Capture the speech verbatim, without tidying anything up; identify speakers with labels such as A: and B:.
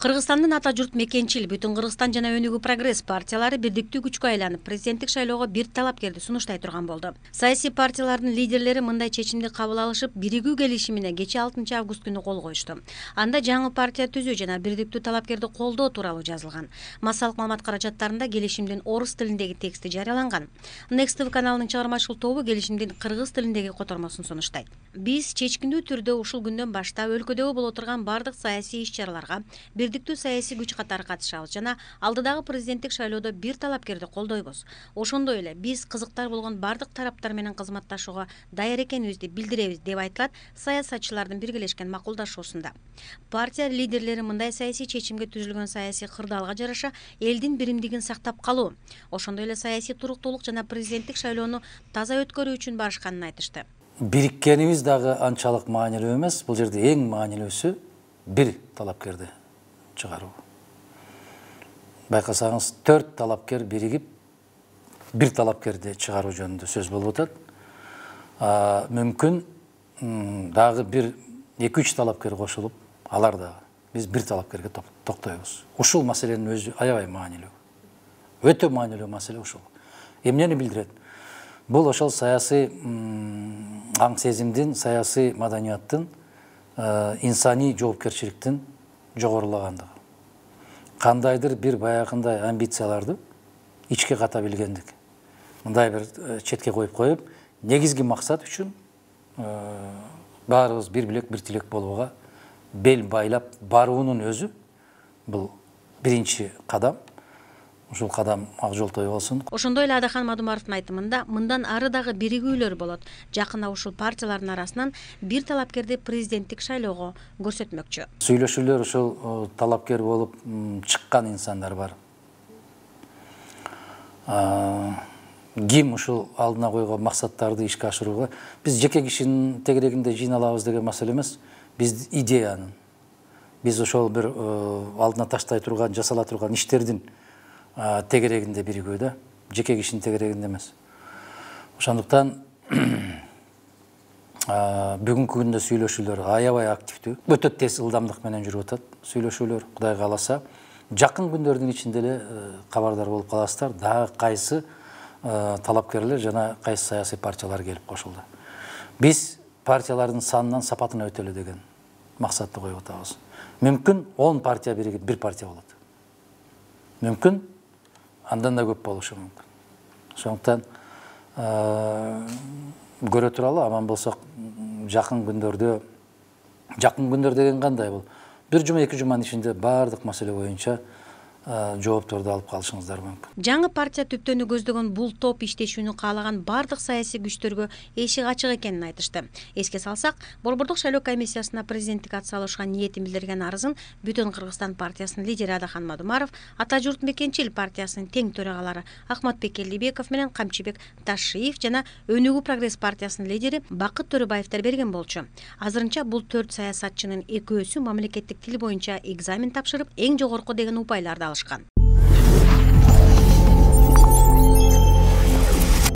A: Кыргызстандын ата журт Мекенчил, Бүтүн Кыргызстан жана Өнүгүү прогресс партиялары бирдиктүү күчкө айланып, президенттик шайлоого бир талапкерди сунуштай турган болду. Саясий партиялардын лидерлери мындай чечимди кабыл алышып, биригүү келишимине кечээ алтынчы август күнү кол коюшту. Анда жаңы партия түзүү жана бирдиктүү талапкерди колдоо тууралуу жазылган. Массалык маалымат каражаттарында келишимдин орус тилиндеги тексти жарыяланган. Next T V каналынын чыгармачылык тобу келишимдин кыргыз тилиндеги котормосун сунуштайт. Биз чечкиндүү түрдө ушул күндөн баштап өлкөдөгү боло турган бардык саясий иш-чараларга бирдиктүү саясий күч катары катышабыз жана алдыдагы президенттик шайлоодо бир талапкерди колдойбуз. Ошондой эле биз кызыктар болгон бардык тараптар менен кызматташууга даяр экенибизди билдиребиз деп айтылат саясатчылардын биргелешкен макулдашуусунда. Партия лидерлери мындай саясий чечимге түзүлгөн саясий кырдаалга жараша элдин биримдигин сактап калуу, ошондой эле саясий туруктуулук жана президенттик шайлоону таза өткөрүү үчүн барышканын айтышты.
B: Бириккенибиз дагы анчалык маанилүү эмес. Бул жерде эң маанилүүсү бир талапкерди чыгаруу. Байкасаңыз, төрт талапкер биригип бир талапкерди чыгаруу жөнүндө сөз болуп атат. Мүмкүн дагы бир эки үч талапкер кошулуп, алар дагы биз бир талапкерге токтойбуз. Ушул маселенин өзү аябай маанилүү. Өтө маанилүү маселе ушул. Эмнени билдирет? Бул ошол саясий аң сезимдин, саясий маданияттын, инсаний жоопкерчиликтин жогорулагандыгы. Кандайдыр бир баягындай амбицияларды ичке ката билгендик. Мындай бир четке коюп коюп, негизги максат үчүн баарыбыз бир билек, бир тилек болууга бел байлап баруунун өзү бул биринчи кадам. Ушул кадам ак жолтой болсун.
A: Ошондой эле Адахан Мадумаровдун айтымында мындан ары дагы биригүүлөр болот. Жакында ушул партиялардын арасынан бир талапкерди президенттик шайлоого көрсөтмөкчү.
B: Сүйлөшүүлөр ушул талапкер болуп чыккан инсандар бар. Ким ушул алдына койгон максаттарды ишке ашырууга биз жеке кишинин тегерегинде жыйналабыз деген маселе эмес. Биз идеянын, биз ошол бир алдына таштай турган, жасала турган иштердин тегерегинде биригүү да, жеке кишинин тегерегинде эмес. Ошондуктан бүгүнкү күндө сүйлөшүүлөр аябай активдүү, өтө тез ылдамдык менен жүрүп атат сүйлөшүүлөр. Кудай кааласа, жакын күндөрдүн ичинде эле кабардар болуп каласыздар, дагы кайсы талапкерлер жана кайсы саясий партиялар келип кошулду. Биз партиялардын санынан сапатына өтөлү деген максатты коюп атабыз. Мүмкүн он партия биригип бир партия болот. Мүмкүн андан да көп болушу мүмкүн. Ошондуктан көрө туралы, аман болсок жакын күндөрдө, жакын күндөр деген кандай бул? Бир жума, эки жуманын ичинде бардык маселе боюнча жоопторду алып калышыңыздар мүмкүн.
A: Жаңы партия түптөөнү көздөгөн бул топ иштешүүнү каалаган бардык саясий күчтөргө эшик ачык экенин айтышты. Эске салсак, Борбордук шайлоо комиссиясына президенттик ат салышка ниетин билдирген арызын Бүтүн Кыргызстан партиясынын лидери Адахан Мадумаров, Ата журт Мекенчил партиясынын тең төрагалары Ахматбек Элдибеков менен Камчыбек Ташиев жана Өнүгүү прогресс партиясынын лидери Бакыт Төрөбаевдер берген болчу. Азырынча бул төрт саясатчынын экөөсү мамлекеттик тил боюнча экзамен тапшырып, эң жогорку деген упайларды алышкан.